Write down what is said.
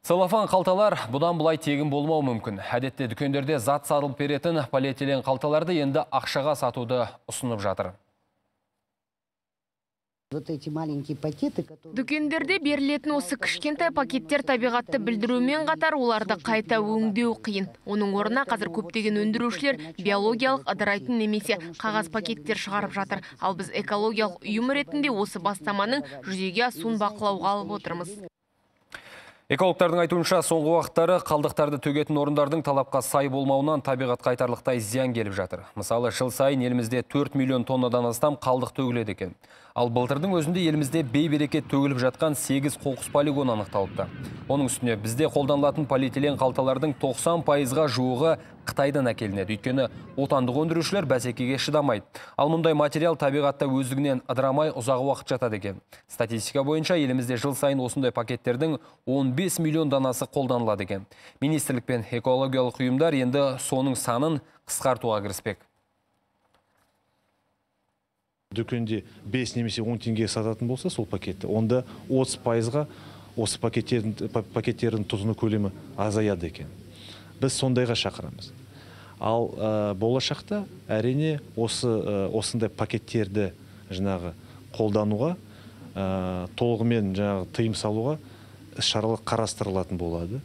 Целлофан қалталар бұдан бұлай тегін болмау мүмкін. Әдетте дүкендерде зат сатылып беретін полиэтилен қалталарды енді ақшаға сатуды ұсынып жатыр. Дүкендерде берілетін осы кішкентай пакеттер табиғатты білдірумен қатар оларды қайта өңдеу қиын. Оның орнына қазір көптеген өндірушілер биологиялық ыдырайтын немесе қағаз пакеттер шығарып жатыр. Ал біз экологиялық ұйым ретінде осы бастаманың жүзеге асуын бақылауға алып отырмыз. Экологтардың айтуынша соңғы уақыттары қалдықтарды төгетін орындардың талапқа сай болмауынан табиғат қайтарлықтай зиян келіп жатыр. Мысалы, жыл сайын елімізде 4 миллион тоннадан астам қалдық төгіледі екен. Ал былтырдың өзінде елімізде бейберекет төгіліп жатқан 8 қоқыс полигон анықталыпты. Оның үстіне бізде қолданылатын полиэтилен қалталардың 90%-ға жуығы Қытайдан әкелінеді. Өйткені отандық өндірушілер бәсекеге шыдамайды. Ал мұндай материал табиғатта өздігінен ыдырамай ұзақ уақыт жатады екен. Статистика бойынша елімізде жыл сайын осындай пакеттердің 15 миллион данасы қолданылады екен. Министрлік пен экологиялық ұйымдар енді соның санын қысқартуға кіріспек. Дүкенде 5 немесе 10 теңге сататын болса сол пакетті, онда 30%-ға осы пакеттердің тұзыны көлемі азаяды екен. Біз сондайға шақырамыз. Ал болашақта әрине осындай пакеттерді қолдануға, толығымен тыйым салуға шаралар қарастырылатын болады.